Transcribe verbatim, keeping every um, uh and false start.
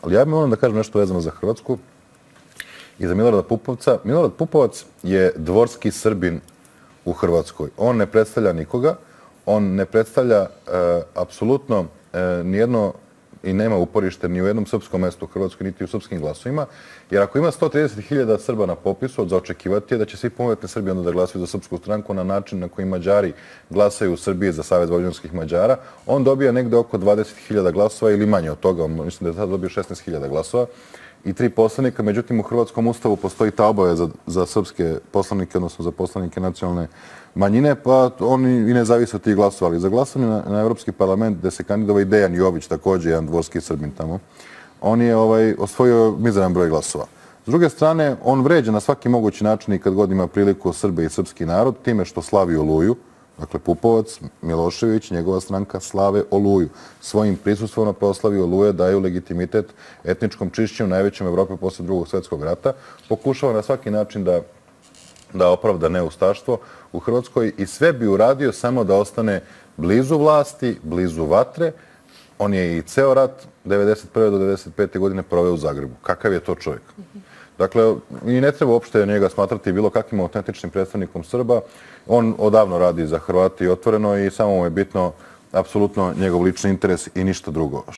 Ali ja moram da kažem nešto vezano za Hrvatsku i za Milorada Pupovca. Milorad Pupovac je dvorski Srbin u Hrvatskoj. On ne predstavlja nikoga, on ne predstavlja e, apsolutno e, nijedno i nema uporište ni u jednom srpskom mestu u Hrvatskoj, niti u srpskim glasovima. Jer ako ima sto trideset hiljada Srba na popisu, za očekivati je da će svi punoletni Srbi onda da glasaju za Srpsku stranku na način na koji Mađari glasaju u Srbiji za Savez vojvođanskih Mađara. On dobija negde oko dvadeset hiljada glasova ili manje od toga. Mislim da je sad dobio šesnaest hiljada glasova i tri poslanika. Međutim, u Hrvatskom ustavu postoji ta obaveza za srpske poslanike, odnosno za poslanike nacionalne manjine, pa oni i ne zavise od tih glasova. Ali za glasanje na, na Evropski parlament, gde se kandidova i Dejan Jović, također jedan dvorski Srbin tamo, on je ovaj, osvojio mizeran broj glasova. S druge strane, on vređa na svaki mogući način i kad god ima priliku Srbe i srpski narod, time što slavi Oluju. Dakle, Pupovac, Milošević, njegova stranka slave Oluju. Svojim prisustvom na proslavi Oluje daju legitimitet etničkom čišćenju najvećem Evrope posle drugog svjetskog rata. Pokušava na svaki način da, da opravda neustaštvo u Hrvatskoj i sve bi uradio samo da ostane blizu vlasti, blizu vatre. On je i ceo rat devedeset prve do devedeset pete godine proveo u Zagrebu. Kakav je to čovjek? Dakle, i ne treba uopšte njega smatrati bilo kakvim autentičnim predstavnikom Srba. On odavno radi za Hrvate i otvoreno i samo mu je bitno apsolutno njegov lični interes i ništa drugo.